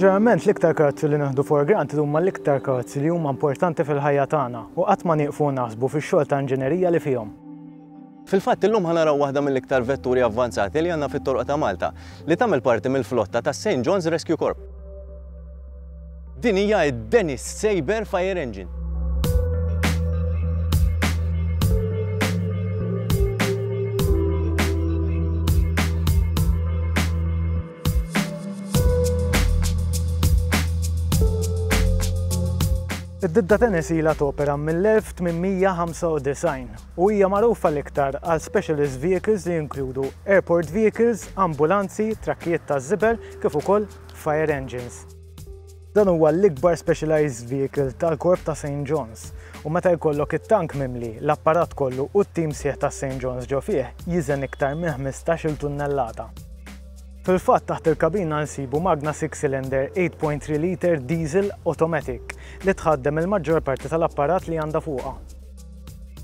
Ġeneralment l-iktar karozzi li nieħdu for granted huma l-iktar karozzi li huma importanti fil-ħajja tagħna u qatt ma nieqfu naħsbu fix-xogħol ta' inġinerija li fihom. Fil-fatt illum ħa naraw waħda mill-iktar vetturi avvanzati li għandna fit-toroq ta' Malta, li tagħmel parti mill-flotta tas-St. John's Rescue Corps. Din hija d-Dennis Sabre Fire Engine. Id-ditta Tennis ilha topera mill-1895 u hija magħrufa l-iktar għal specialist vehicles li jinkludu airport vehicles, ambulanzi, trakkijiet taż-żibel kif ukoll fire engines. Dan huwa l-ikbar specialized vehicle tal-Korp ta' St. John's u meta jkollok it-tank mimli, l-apparat kollu u t-tim sħiħ ta' St. John's ġo fih jiżen iktar minn 15-il tunnellata. Fil-fatt taħt il-kabina nsibu magna six cylinder 8.3 litre diesel automatic li tħaddem il-maġġor parti tal-apparat li għandha fuqha.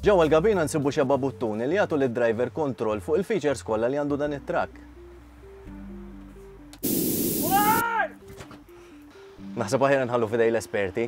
Ġewwa l-kabina nsibu xebgħa buttuni li jagħtu lid-driver kontroll fuq il-features kollha li għandu dan it-trakk. Naħseb aħjar nħallu f'idej l-esperti.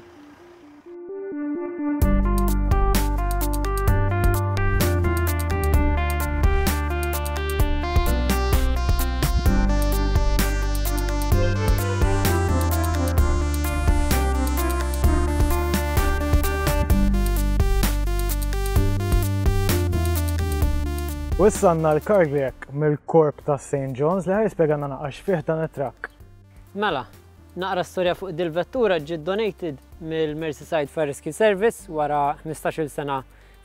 U issa għandna l-Cardiac mill-korp ta' St. John's li ħa jispjegana naqra x'fih dan it-trakk. Mela, naqra storja fuq dil-vettura ġiet donated mill-Merseyside Fire Rescue Service wara 15-il sena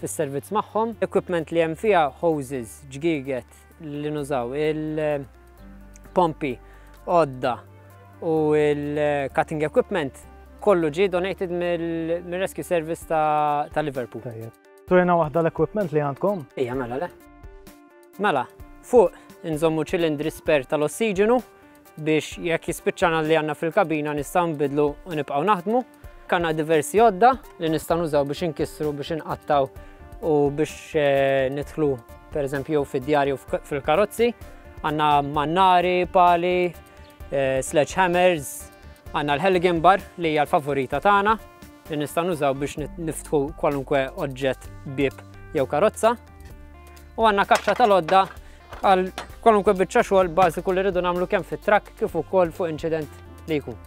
fis-servizz magħhom. Equipment li hemm fiha hoses, ġgieget li nużaw, il-pompi, għodda u il-cutting equipment kollu ġie donated mill-Rescue Service ta', ta Liverpool. Turina waħda l-equipment li għandkom? Ija, mela le. Mela, fuq inżommu ċilindri spare tal-ossiġenu biex jekk jispiċċana li għandna fil-kabina nistgħu nbidlu u nibqgħu naħdmu. Kanna diversi għodda li nistgħu nużaw biex inkissru, biex inqattaw u biex eh, nidħlu pereżempju fid-djar jew fil-karozzi. Għandna mannari, pali, eh, sledgehammers, għandna l-Helligan bar li hija l-favorita tagħna li nistgħu nużaw biex niftħu kwalunkwe oġġett bieb jew karozza. U għandna kaxxa tal-għodda għal kwalunkwe biċċa xogħol bażiku li rridu nagħmlu kemm fit-trakk kif ukoll fuq inċident li jkun.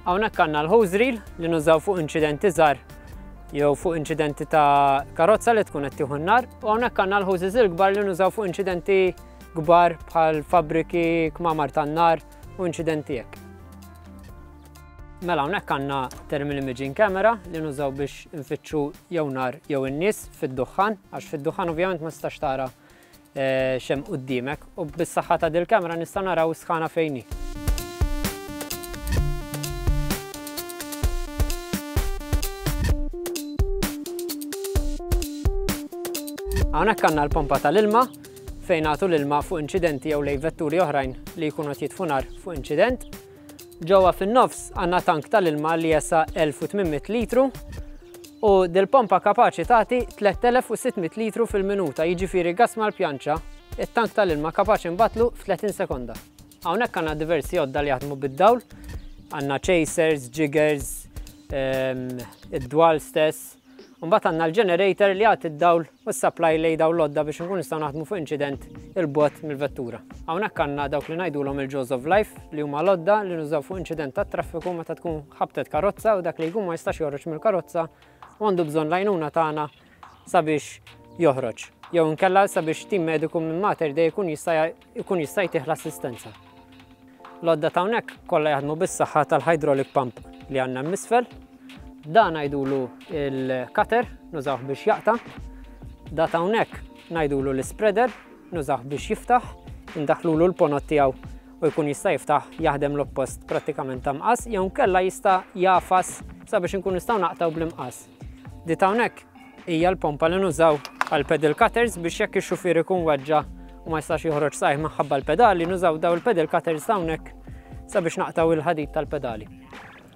Hawnhekk għandna l-hose reel li nużaw fuq inċidenti żgħar jew fuq inċidenti ta' karozza li tkun qed tieħu n-nar u hawnhekk għandna l-hoses il-kbar li nużaw fuq inċidenti kbar bħal fabbriki, kmamar tan-nar u inċidenti hekk. Mela hawnhekk għandna thermal imaging camera li nużaw biex nfittxu jew nar jew in-nies fid-duħħan, għax fid-duħħan ovvjament ma tistax tara eh, xem quddiemek u bis-saħħa ta' dil-kamera nistgħu naraw sħana fejn hi. Hawnhekk għandna l-pompa tal-ilma fejn nagħtu l-ilma fuq inċidenti jew lej vetturi oħrajn li jkunu qed jitfu nar fuq inċident. Ġewwa fin-nofs għandna tank tal-ilma li jesa' 1800 litru u dil-pompa kapaċi tagħti 3600 litru fil-minuta, jiġifieri gass mal-pjanċa, it-tank tal-ilma kapaċi nbattlu f'30 sekonda. Hawnhekk għandna diversi għodda li jaħdmu bid-dawl, għandna chasers, jiggers, ehm, id-dwal stess, U mbagħad għandna l-generator li jagħti d-dawl u s-supply lejn dawn l-għodda biex nkunu nistgħu naħdmu fuq inċident 'il bogħod mill-vettura. Hawnhekk għandna dawk li ngħidulhom il-jaws of life li huma l-għodda li nużaw fuq inċident tat-traffiku meta tkun ħabtet karozza u dak li jkun ma jistax joħroġ mill-karozza u għandu bżonn l-għajnuna tagħna sabiex joħroġ jew inkella sabiex tim mediku minn Mater Dei jkun jista' jkun jista' jtih l-assistenza. L-għodda ta' hawnhekk kollha jaħdmu bis-saħħa tal-hydraulic pump li għandna hemm isfel. Dan ngħidulu il-cutter, nużawh biex jaqta'. Da ta' hawnhekk ngħidulu l-spreader, nużawh biex jiftaħ, indaħħlulu l-ponot tiegħu u jkun jista' jiftaħ jaħdem l-oppost prattikament ta' mqas jew nkella jista' jagħfas sabiex inkunu nistgħu naqtgħu bl-imqas. Di ta' hawnhekk hija l-pompa li nużaw għal pedal cutters biex jekk ix-xufier ikun weġġa' u ma jistax joħroġ saqajh minħabba l-pedali, nużaw daw il-pedal cutters ta' hawnhekk sabiex naqtgħu il-ħadid tal-pedali.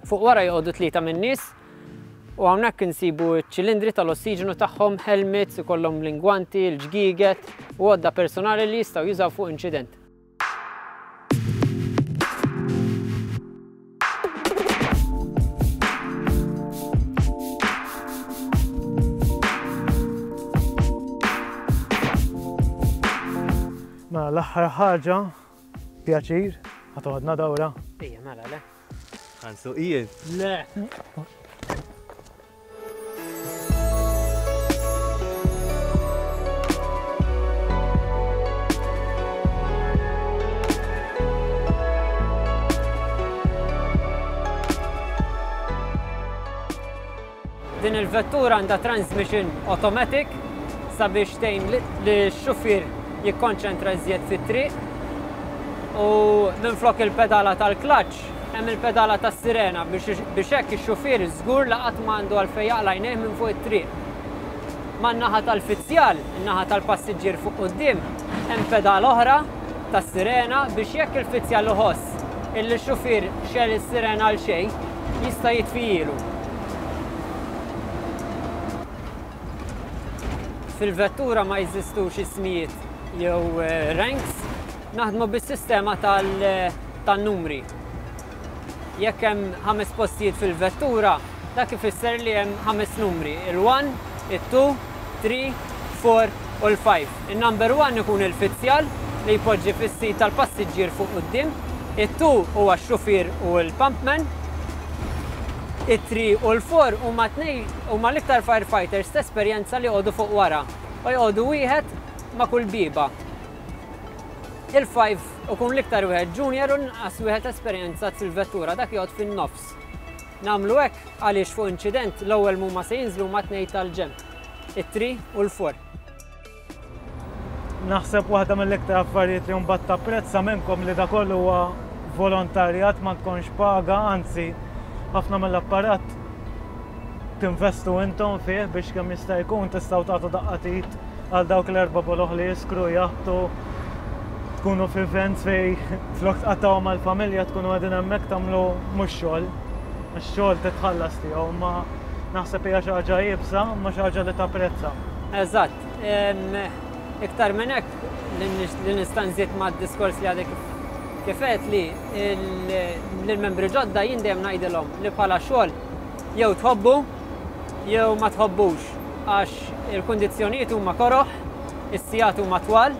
Fuq wara joqogħdu tlieta min-nies u hawnhekk insibu ċ-ċilindri tal-ossiġenu tagħhom, helmets, ikollhom l-ingwanti, l-ġgieget u għodda personali li jistgħu jużaw fuq inċident. L-aħħar ħaġa, pjaċir, ħa toħodna dawra. Ejja, mela, le. Ħa nsuq jien. Le. Din il-vettura għandha transmission automatic sabiex tgħin lix-xufier jikkonċentra iżjed fit-triq u minflok il-pedala tal-clutch hemm il-pedala tas-sirena biex hekk ix-xufier żgur li qatt ma għandu għalfejn jaqla' għajnejh minn fuq it-triq. Man-naħa tal-fizzjal, in-naħa tal-passiġġier fuq quddiem, hemm pedala oħra tas-sirena biex jekk il-fizzjal iħoss illi x-xufier xegħel is-sirena għal xejn, jista' jitfijielu. Fil-vettura ma jeżistux ismijiet jew ranks, naħdmu bis-sistema tan-numri. Jekk hemm ħames postijiet fil-vettura, dak ifisser li hemm ħames numri, il-one, it-two, three, four u l-five. In-number one ikun il-fizzjal li jpoġġi fis-seat tal-passiġġier fuq quddiem, it-two huwa x-xufier u l-pumpman, it-three u l-four huma tnejn huma l-iktar firefighters t'esperjenza li joqogħdu fuq wara u joqogħdu wieħed ma' kull bieba. Il-five ikun l-iktar wieħed junior u l-inqas wieħed esperjenzat fil-vettura, dak joqgħod fin-nofs. Nagħmlu hekk għaliex fuq inċident l-ewwel m'huma se jinżlu huma t-tnejn tal-ġenb, it-three u l-four. Naħseb waħda mill-iktar affarijiet li mbagħad tapprezza minnkom li da kollu huwa volontarjat ma tkunx paga, anzi ħafna mill-apparat tinvestu intom fih biex kemm jista' jkun tistgħu tagħtu daqqa t'id għal dawk l-erba' boloh li jiskru jaħbtu tkunu f'events fej flok tqattgħu mal-familja tkunu qegħdin hemmhekk tagħmlu mhux xogħol. Għax xogħol titħallas tiegħu, imma naħseb hija xi ħaġa iebsa, imma xi ħaġa li tapprezza. Eżatt. Iktar minn hekk li nista' nżid mad-diskors li għadek kif għedt li lill-membri ġodda jien dejjem ngħidilhom li bħala xogħol jew tħobbu jew ma tħobbux għax il-kundizzjonijiet huma koroh, is-sigħat huma twal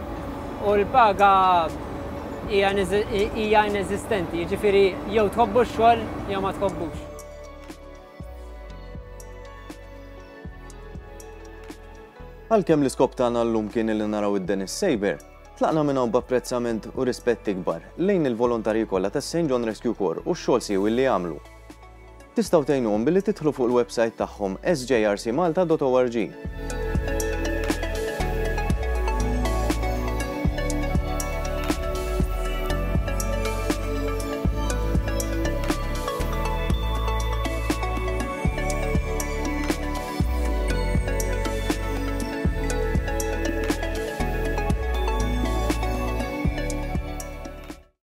u l-paga hija ineżistenti, jiġifieri jew tħobbu x-xogħol jew ma tħobbux. Għalkemm l-iskop tagħna llum kien li naraw id-Dennis Sabre, tlaqna minn hawn b'apprezzament u rispett ikbar lejn il-volontarji kollha tas-St John Rescue Corps u x-xogħol siewi li jagħmlu. Tistgħu tgħinuhom billi tidħlu fuq il-websajt tagħhom sjrcmalta.org.